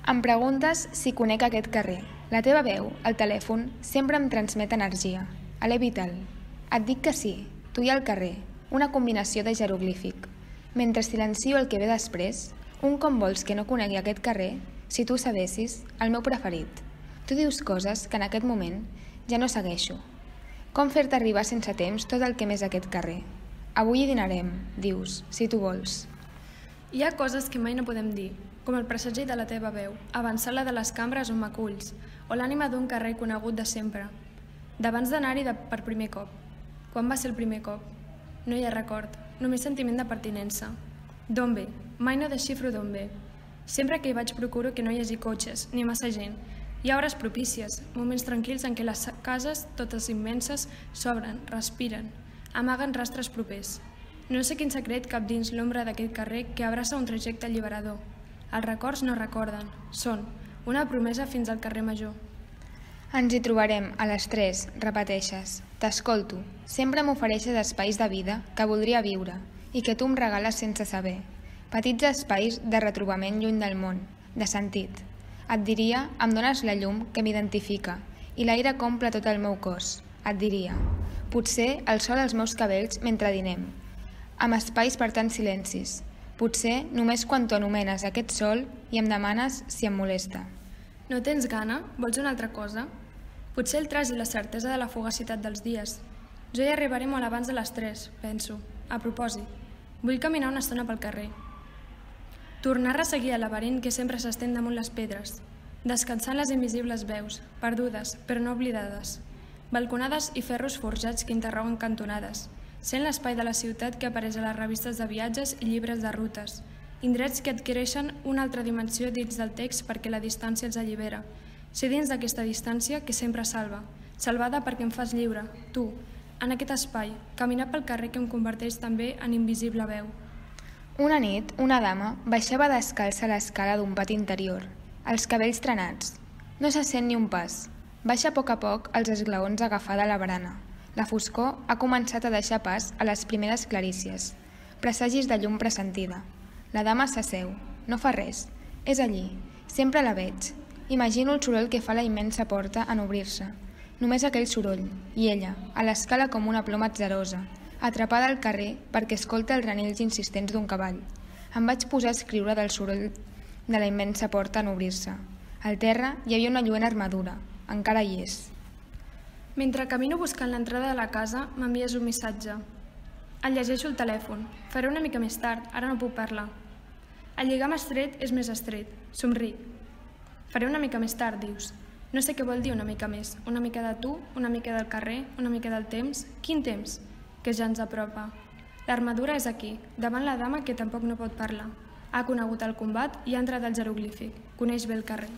Em preguntes si conec aquest carrer. La teva veu, el telèfon, sempre em transmet energia. Alè vital. Et dic que sí, tu i el carrer, una combinació de jeroglífic. Mentre silencio el que ve després, un com vols que no conegui aquest carrer, si tu sabessis, el meu preferit. Tu dius coses que en aquest moment ja no segueixo. Com fer-te arribar sense temps tot el que més aquest carrer? Avui hi dinarem, dius, si tu vols. Hi ha coses que mai no podem dir, com el presagi de la teva veu, avançar-la de les cambres on m'aculls, o l'ànima d'un carrer conegut de sempre, d'abans d'anar-hi per primer cop. Quan va ser el primer cop? No hi ha record, només sentiment de pertinença. D'on ve? Mai no desxifro d'on ve. Sempre que hi vaig procuro que no hi hagi cotxes, ni massa gent. Hi ha hores propícies, moments tranquils en què les cases, totes immenses, s'obren, respiren, amaguen rastres propers. No sé quin secret cap dins l'ombra d'aquest carrer que abraça un trajecte alliberador. Els records no recorden, són una promesa fins al carrer Major. Ens hi trobarem a les 3, repeteixes. T'escolto, sempre m'ofereixes espais de vida que voldria viure i que tu em regales sense saber. Petits espais de retrobament lluny del món, de sentit. Et diria, em dones la llum que m'identifica i l'aire que omple tot el meu cos. Et diria, potser el sol als meus cabells mentre dinem, amb espais per tants silencis. Potser només quan tu anomenes aquest sol i em demanes si em molesta. No tens gana? Vols una altra cosa? Potser el tras i la certesa de la fugacitat dels dies. Jo hi arribaré molt abans de les 3, penso. A propòsit, vull caminar una estona pel carrer. Tornar a resseguir el laberint que sempre s'estén damunt les pedres, descansant les invisibles veus, perdudes, però no oblidades, balconades i ferros forjats que interroguen cantonades, sent l'espai de la ciutat que apareix a les revistes de viatges i llibres de rutes, indrets que adquireixen una altra dimensió dins del text perquè la distància els allibera, ser dins d'aquesta distància que sempre salva, salvada perquè em fas lliure, tu, en aquest espai, caminar pel carrer que em converteix també en invisible veu. Una nit, una dama baixava descalça a l'escala d'un pati interior, els cabells trenats. No se sent ni un pas. Baixa a poc els esglaons agafada a la barana. La foscor ha començat a deixar pas a les primeres clarícies, presagis de llum pressentida. La dama s'asseu, no fa res, és allí, sempre la veig. Imagino el soroll que fa la immensa porta en obrir-se. Només aquell soroll, i ella, a l'escala com una ploma atzerosa, atrapada al carrer perquè escolta els renells insistents d'un cavall. Em vaig posar a escriure del soroll de la immensa porta en obrir-se. Al terra hi havia una lluent armadura, encara hi és. Mentre camino buscant l'entrada de la casa, m'envies un missatge. El llegeixo al telèfon. Faré una mica més tard, ara no puc parlar. El lligam estret és més estret. Somric. Faré una mica més tard, dius. No sé què vol dir una mica més. Una mica de tu, una mica del carrer, una mica del temps. Quin temps? Que ja ens apropa. L'armadura és aquí, davant la dama que tampoc no pot parlar. Ha conegut el combat i ha entrat al jeroglífic. Coneix bé el carrer.